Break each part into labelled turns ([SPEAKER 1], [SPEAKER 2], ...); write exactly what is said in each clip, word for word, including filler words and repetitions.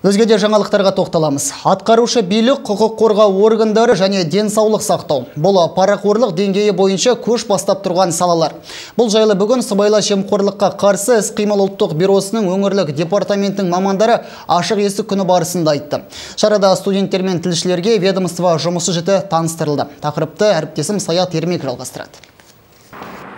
[SPEAKER 1] Өзге де жаңалықтарға тоқталамыз. Атқарушы билік, құқық қорғау органдары және денсаулық сақтау. Бұл парақорлық деңгейі бойынша көш бастап тұрған салалар. Бұл жайлы бүгін сыбайлас жемқорлыққа қарсы іс-қимыл ұлттық бюросының өңірлік департаментінің мамандары ашық есік күні барысында айтты. Шарада студенттер мен тілшілерге ведомство жұмысы жіті таныстырылды. Тақырыпты әріптесім Саят Ермек жалғастырады.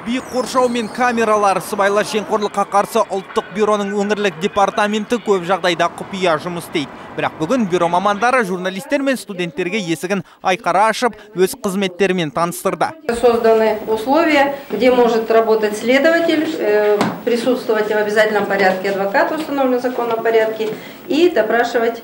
[SPEAKER 2] Биік қоршау мен камералар, сыбайлас жемқорлыққа қарсы ұлттық бюроның өңірлік департаменті көп жағдайда құпия жұмыс істейді. Бірақ бүгін бюро мамандары журналистер мен студенттерге есігін айқара ашып, өз қызметтерімен таныстырды.
[SPEAKER 3] Созданы условия, где может работать следователь, присутствовать в обязательном порядке адвокат в установленном законном порядке и допрашивать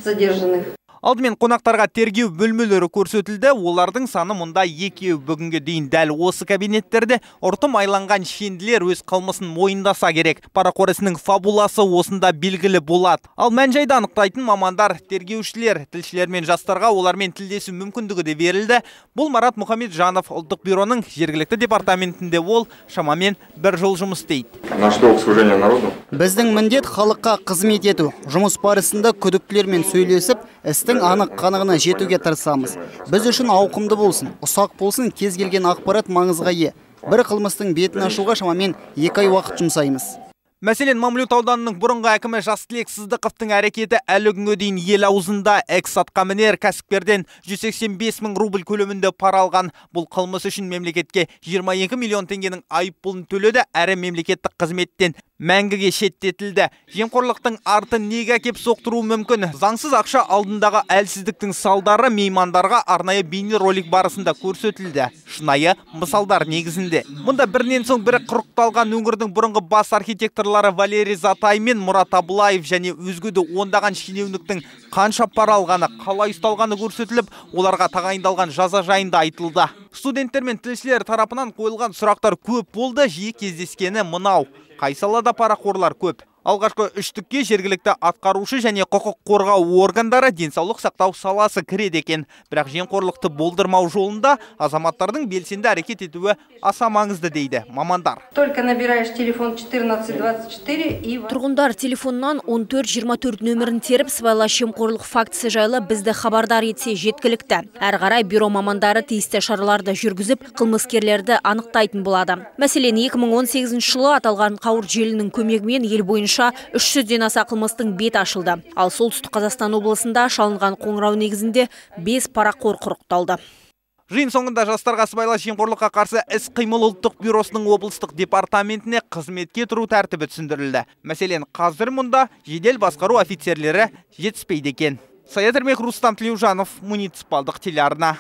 [SPEAKER 3] задержанных.
[SPEAKER 2] Алдымен қонақтарға тергеу бөлмелері көрсетілді. Олардың саны мұнда екеу. Бүгінге дейін дәл осы кабинеттерде ұртым айланған шенділер өз қылмысын мойындаса керек. Парақор ісінің фабуласы осында белгілі болады. Ал мән-жайды анықтайтын мамандар, тергеушілер, тілшілер мен жастарға олармен тілдесу мүмкіндігі де берілді. Бұл Марат Мұхамеджанов ұлттық бюроның жергілікті департаментінде ол шамамен бір жыл жұмыс істейді.
[SPEAKER 4] На что служение народу?
[SPEAKER 1] Біздің міндет халыққа қызмет ету. Жұмыс барысында күдіктілермен сөйлесіп, істің анық қанығына жетуге тырысамыз. Біз үшін ауқымды болсын, ұсақ болсын, кез келген ақпарат маңызға ие. Бір қылмыстың бетін ашуға шамамен екі ай уақыт жұмсаймыз.
[SPEAKER 2] Мәселен, Мамлют ауданының бұрынғы әкімі Жастілек Сыздықовтың әрекеті әлі күнге дейін ел аузында. Экс-атқамінер кәсіпкерден жүз сексен бес мың рубль көлемінде пара алған. Бұл қылмыс үшін мемлекетке жиырма екі миллион теңгенің айыппұлын төледі, әрі мемлекеттік қызметтен мәңгіге шеттетілді. Жемқорлықтың арты неге әкеп соқтыруы мүмкін? Заңсыз ақша алдындағы әлсіздіктің салдары меймандарға арнайы бейнеролик барысында көрсетілді. Шынайы мысалдар негізінде. Мұнда бірінен соң бірі құрықталған өңірдің бұрынғы бас архитекторлары Валерий Затай мен Мұрат Абылаев және өзгеде ондаған шенеуніктің қанша пара алғаны, қалай ұсталғаны көрсетіліп, оларға тағайындалған жаза жайында айтылды. Студенттер мен тілшілер тарапынан қойылған сұрақтар көп болды, жиі кездескені мынау. Қай салада парақорлар көп? Алғашқы үштікке жергілікті атқарушы және құқық қорғау органдары, денсаулық сақтау саласы кіреді екен. Бірақ жемқорлықты болдырмау жолында азаматтардың белсенді әрекет етуі аса маңызды дейді мамандар.
[SPEAKER 3] Только набираешь телефон четырнадцать двадцать четыре и...
[SPEAKER 5] Тұрғындар телефоннан он төрт жиырма төрт нөмірін теріп, сыбайлас жемқорлық фактісі жайлы бізді хабардар етсе жеткілікті. Әрі қарай бюро мамандары тиісті шараларды жүргізіп, қылмыскерлерді анықтайтын болады. Мәселен, екі мың он сегізінші жылы аталған қауырт желінің көмегімен ел бойынша үш жүзден аса қылмыстың бет ашылды. Ал солтүстік Қазақстан облысында шалынған қоңырау негізінде бес парақор құрықталды.
[SPEAKER 2] Жиын соңында жастарға сыбайлас жемқорлыққа қарсы іс-қимыл ұлттық бюросының облыстық департаментіне қызметке тұру тәртібі түсіндірілді. Мәселен, қазір мұнда жедел басқару офицерлері жетіспейді екен. Саят Ермек, Рустам Тлеужанов, муниципалдық телеарна.